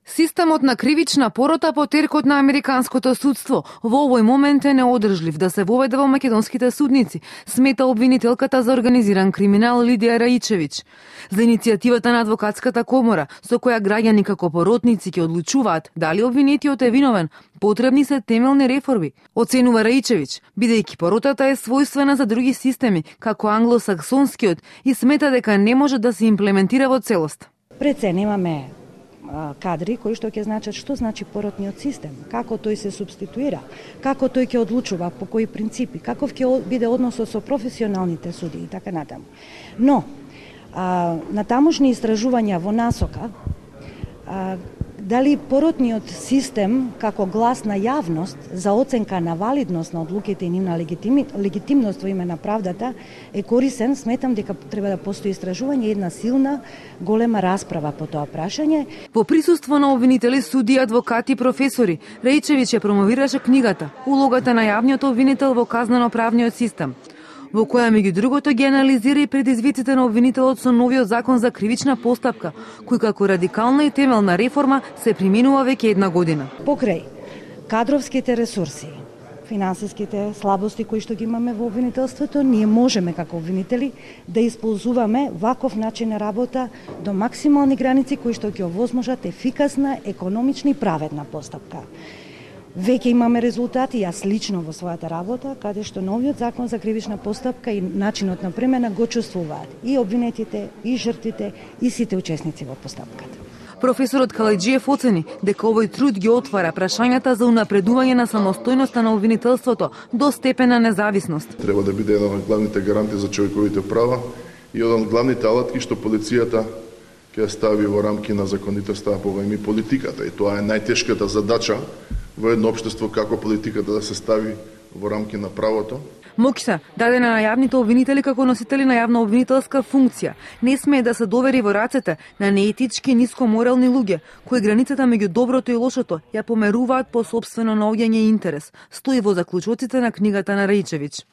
Системот на кривична порота по теркот на американското судство во овој момент е неодржлив да се воведе во македонските судници, смета обвинителката за организиран криминал Лидија Раичевиќ. За иницијативата на адвокатската комора, со која граѓани како поротници ќе одлучуваат дали обвинетиот е виновен, потребни се темелни реформи, оценува Раичевиќ, бидејќи поротата е својствена за други системи, како англосаксонскиот, и смета дека не може да се имплементира во целост. Пред се немаме кадри кои што ќе значат што значи поротниот систем, како тој се субституира, како тој ќе одлучува, по кои принципи, каков ќе биде односот со професионалните судии и така натаму. Но, на тамошни истражувања во насока, дали поротниот систем како глас на јавност за оценка на валидност на одлуките и нивна легитимност во име на правдата е корисен, сметам дека треба да постои истражување и една силна, голема расправа по тоа прашање. Во присуство на обвинители, суди, адвокати и професори, Раичевиќ ја промовираше книгата "Улогата на јавниот обвинител во казнено-правниот систем", во која меѓу другото ги анализира и предизвиците на обвинителот со новиот закон за кривична постапка, кој како радикална и темелна реформа се применува веќе една година. Покрај кадровските ресурси, финансиските слабости кои што ги имаме во обвинителството, ние можеме како обвинители да исползуваме ваков начин на работа до максимални граници кои што ќе овозможат ефикасна, економична и праведна постапка. Веќе имаме резултати, јас лично во својата работа, каде што новиот закон за кривична постапка и начинот на премена го чувствуваат и обвинетите, и жртвите, и сите учесници во постапката. Професорот Калајџиев оцени дека овој труд ги отвара прашањата за унапредување на самостојноста на обвинителството до степен на независност. Треба да биде еден од главните гаранти за човековите права и еден од главните алатки што полицијата ќе стави во рамки на законитоста по време политиката. И тоа е најтешката задача во едно општество, како политиката да се стави во рамки на правото. Мокса, дадена на јавните обвинители како носители на јавна обвинителска функција, не смее да се довери во рацете на неетички и нискоморални луѓе, кои границата меѓу доброто и лошото ја померуваат по сопствено наоѓање интерес, стои во заклучоците на книгата на Раичевиќ.